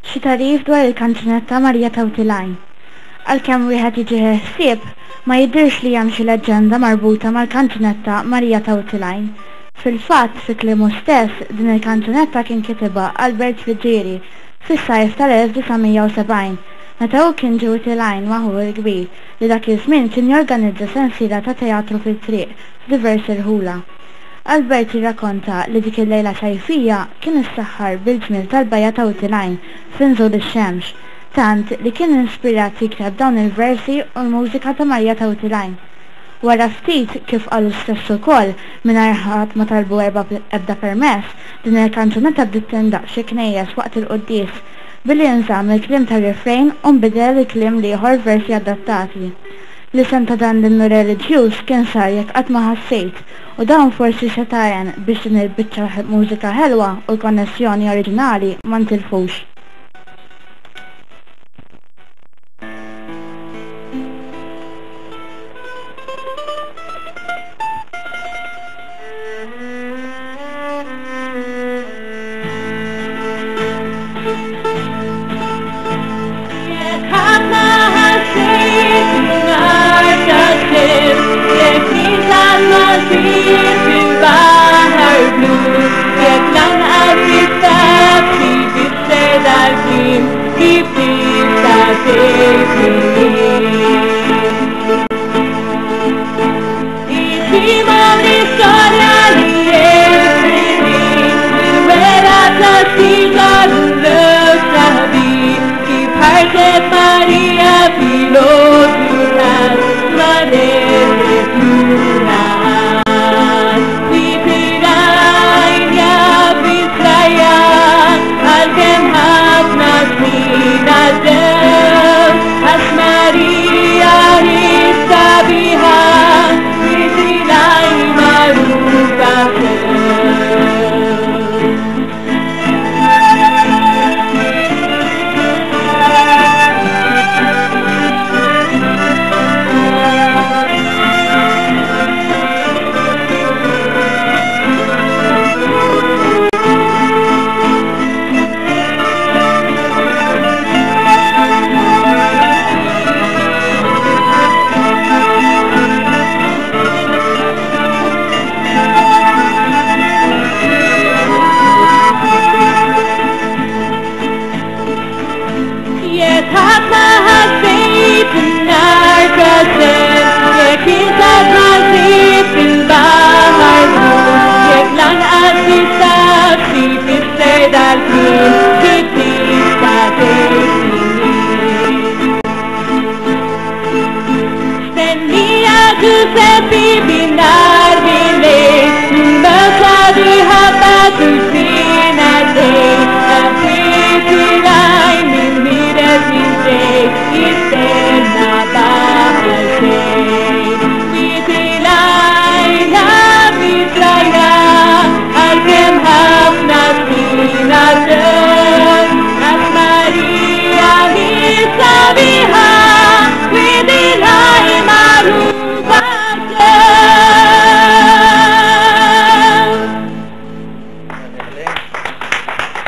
Xi tagħrif dwar il-kanzunetta Marija Tawtilajn. Għalkemm wieħed jiġih il-ħsieb, ma jidhirx li hemm xi leġġenda marbuta mal-kanzunetta Marija Tawtilajn. Fil-fatt, fi kliemu stess, din il-kanzunetta kien kitibha Albert Friggieri fis-sajf tal-1970, meta hu kien ġie Wied il-Għajn ma' ħuh il-kbir, li dak iż-żmien kien jorganizza sensiela ta' teatru fit-triq f'diversi rħula. Albert jirrakonta li dik il-lejla sajfija kien issaħħar bil-ġmiel tal-bajja ta' Wied il-Għajn f'inżul ix-xemx, tant li kien inspirat jikteb dawn il-versi u l-mużika ta' Marija ta' Wied il-Għajn. Wara ftit, kif qal hu stess ukoll, mingħajr ħadd ma talbu ebda permess, din il-kanzunetta bdiet tindaqq f'xi knejjes waqt il-quddies, billi nżamm il-kliem tar-refrain u nbidel il-kliem l-ieħor f'versi adattati. L-isem ta' dan l-innu reliġjuż kien sar Jekk Qatt Ma Ħassejt u dan forsi seta' għen biex din il-biċċa mużika ħelwa u l-konnessjoni oriġinali ma ntilfux.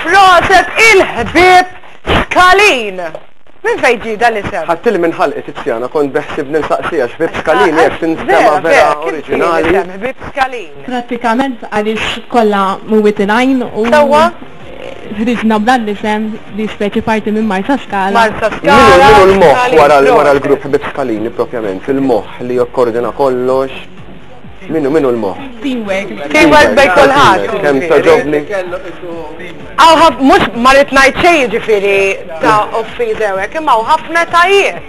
Proset il-ħbieb Skalin! Minn fejn ġie dan l-isem? Ħadtili minn ħalqi Tiziana, kont beħsibni nsaqsiha x'ħbieb Skalin jekk tinstema' vera oriġinali. Ħbieb Skalin. Prattikament għaliex kollha mwiet il-għajn u Sewwa. ħriġna b'dan l-isem li speċi parti minn Marsaskala. Marsaskala. Min hu l-moħħ wara l-grupp Ħbieb Skalini propjament? Il-moħħ li jokkoordina kollox? Min hu min hu l-moħħ? Teamwork. Teamwork bejn kulħadd. Kemm togħġobni. Hawn ħaf mhux ma rrid ngħid xejn jiġifieri ta' offiża jew hekk, imma hawn ħafna etajiet.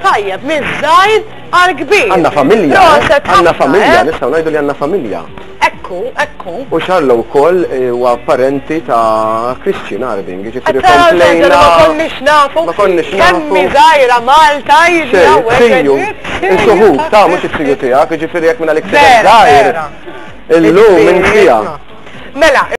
Tajjeb, miż-żgħir għall-kbir. Għandna familja. Proset Għandna ħafna, familja, eh? nistgħu ngħidu li għandna familja. Ekku, ekku. U Charlo wkoll huwa parenti ta' Christian Arbing, jiġifieri Qed tara l-ħaġa li komplejna. ma konniex nafu. Ma konniex Kemm nafu. hi żgħira Malta jiġri Xejn, hawnhekk. siju. Insuħuk, ta' mhux is-siju tiegħek, jiġifieri jekk minn għalik Vera, żgħir. vera. Illum minn fiha. Mela.